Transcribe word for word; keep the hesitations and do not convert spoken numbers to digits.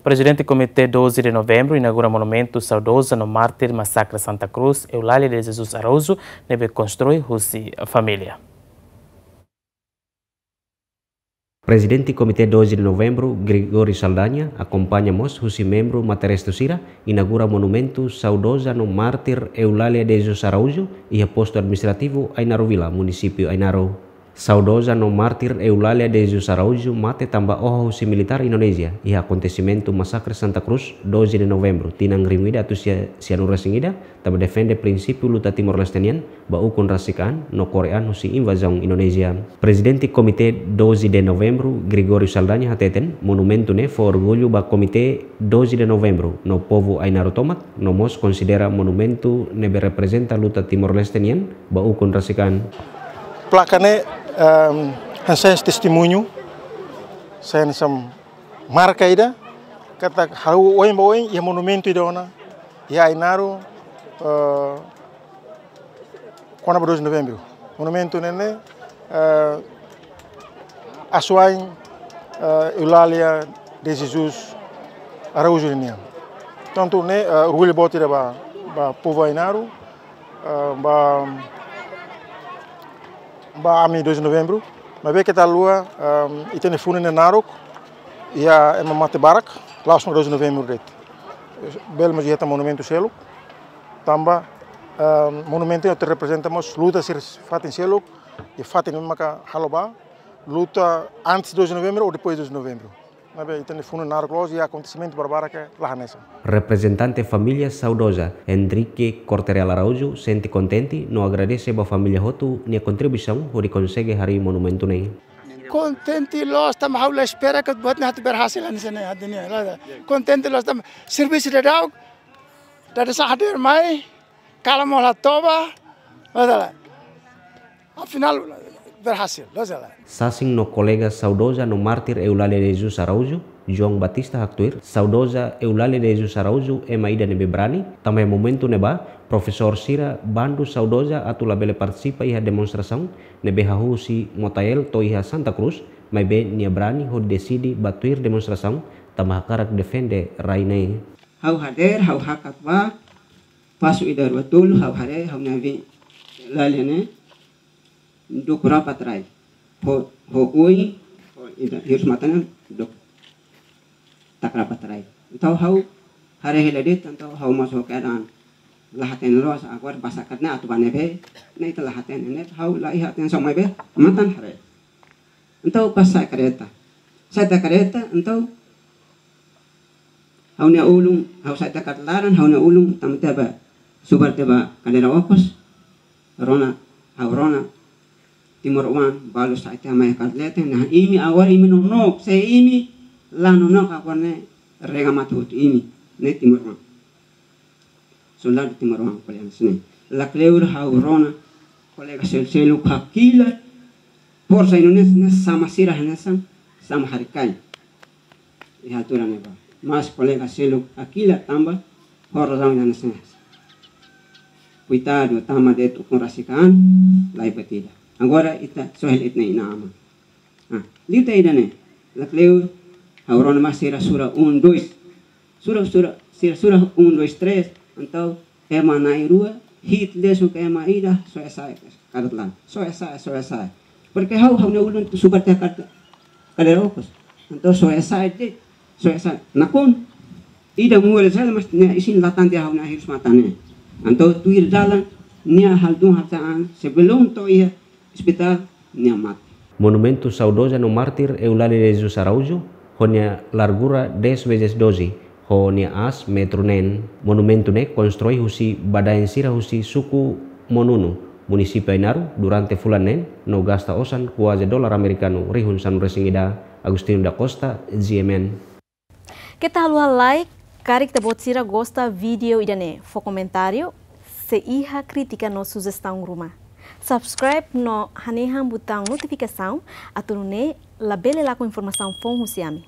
Prezidente Komité doze de Novembru inaugura monumentu saudoza no mártir masakre Santa Cruz, Eulália de Jesus Araújo, ne'ebé konstrui husi família. Prezidente Komité doze de Novembru, Gregório Saldanha, akompaña mós husi membru materestu sira, inaugura monumentu saudoza no mártir Eulália de Jesus Araújo, iha postu administrativu Ainaro Vila, munisípiu Ainaro. Saudoza no mártir Eulália de Jesus Araújo mate tanba oho husi militár Indonézia iha akontesimentu masakre Santa Cruz, doze de Novembru, tinan rihun ida atus sia sianulu-resin-ida, tanba defende prinsípiu luta Timor-Leste nian ba ukun rasik an no kore an husi invazaun Indonézia. Prezidente Komité doze de Novembru, Gregório Saldanha, hateten monumentu ne'e fó orgullu ba Komité doze de Novembru no povu Ainaro tomak, no mós konsidera monumentu ne'ebé reprezenta luta Timor-Leste nian ba ukun rasik an. Plaka ne'e, ehm, hanesan testemuñu, hanesan marka ida katak ha'u ohin ba ohin iha monumentu ida ona iha Ainaro, eh, kona-ba doze de Novembru. Monumentu ne'e ne'e, eh, asuwa'in, eh, Eulália de Jesus Araújo nian. Tantu ne'e, eh, orgullu boot ida ba, ba povu Ainaro, eh, ba, ba ami doze de Novembru. Maibé keta haluha, eh, ita-nia funu ne'e naruk, iha ema mate barak, la'ós mak doze de Novembru de'it. Bele mós iha tan monumentu seluk, tanba, eh, monumentu ne'e atu reprezenta mós luta sira fatin seluk, i fatin ne'e maka halo ba luta antes doze de Novembru ou depois doze de Novembru. Maibé ita-nia funu naruk loos i akontesimentu barbarak ne'e la hanesan. Reprezentante família saudoza, Henrique Corte-Real Araújo, sente kontente no agradese ba família hotu nia kontribuisaun hodi konsege harii monumentu ne'e. Kontente loos tanba ha'u la espera katak buat ne'e atu berhasil hanesan ne'e, ha'u dehan loos. Kontente loos tanba servisu daudauk, dada sa hadir mai, kala mola toba, masalah. Afinál, berhasil, loos la. Sasin no kolega saudoza no mártir Eulália de Jesus Araújo, João Batista haktuir, saudoza Eulália de Jesus Araújo ema ida ne'ebé brani, tanba iha momentu ne'ebá, profesór sira bandu saudoza atu labele partisipa iha demonstrasaun ne'ebé hahú husi Motael to'o iha Santa Cruz, maibé nia brani hodi deside ba tuir demonstrasaun, tanba hakarak defende rai ne'e. Ha'u hadeer, ha'u hakat ba, pasu ida rua tolu, ha'u haree, ha'u-nia avi Eulália ne'e, duk rapa trai. Ho, ho oin, ho ida hirus matan ne'e, duk taka rapa trai. Entaun ha'u haree hela de'it, entaun ha'u mós ho keadaan la hatene loos, agora basa karena atu ba ne'ebé, ne'e ita la hatene, ne'e ha'u la iha atensaun maibé, matan haree. Entaun pas sa'e kareta. Sa'e tiha kareta, entaun ha'u-nia ulun, ha'u sa'e tiha kareta laran, ha'u-nia ulun tama tiha ba, subar tiha ba kadeira okos, rona, ha'u rona, timoroan, balu sa'e tiha mai kareta leten, nah imi agora imi nonook, se imi la nonook agora ne'e, rega mate hotu imi, ne'e timoroan. Soldadu timoroan ko'alia hanesan ne'e. Lakleur ha'u rona, kolega sel-, seluk hakilar, forsa Indonézia ne'e sama sira hanesan, sama haree-kain. Iha altura ne'ebá. Mas kolega seluk hakilar tanba, ho razaun ida hanesan ne'e. Koitadu, tama de'it ukun rasik an, laiha buat ida. Agora ita sohel ita-nia inan-aman. Ah, liu tiha ida-ne'e. Lakleur, ha'u rona mai sira sura um, dois. Sura, sura, sira sura um, dois, três. Entaun, ema na'in-rua, hi'it lesu ka ema ida, soe sa'e, kareta laran. Soe sa'e, soe sa'e. Porque ha'u, ha'u-nia ulun subar tiha kareta, kadeira okos. Entaun, soe sa'e de'it, soe sa'e. Nakonu, ida mual sala mas nia isin latan tiha ha'u-nia hirus matan ne'e. Entaun, tuir dalan, nia halo duni halo sa'e an, sebelum to'o iha, ospitál nia mate. Monumentu saudoza no mártir Eulália de Jesus Araújo, ho nia largura dez vezes doze, ho nia aas metru neen. Monumentu ne'e konstrui husi badaen sira husi suku Monunu, munisípiu Ainaro, durante fulan neen, no gasta osan kuaze dolar amerikanu rihun sanulu-resin-ida. Agostinho da Costa, G M N. Keta haluha like, karik ita-boot sira gosta vídeo ida-ne'e, fó komentáriu, se iha krítika no sujestaun ruma. Subscribe no hanehan butaun notifikasaun, atu nune'e labele lakon informasaun foun husi ami.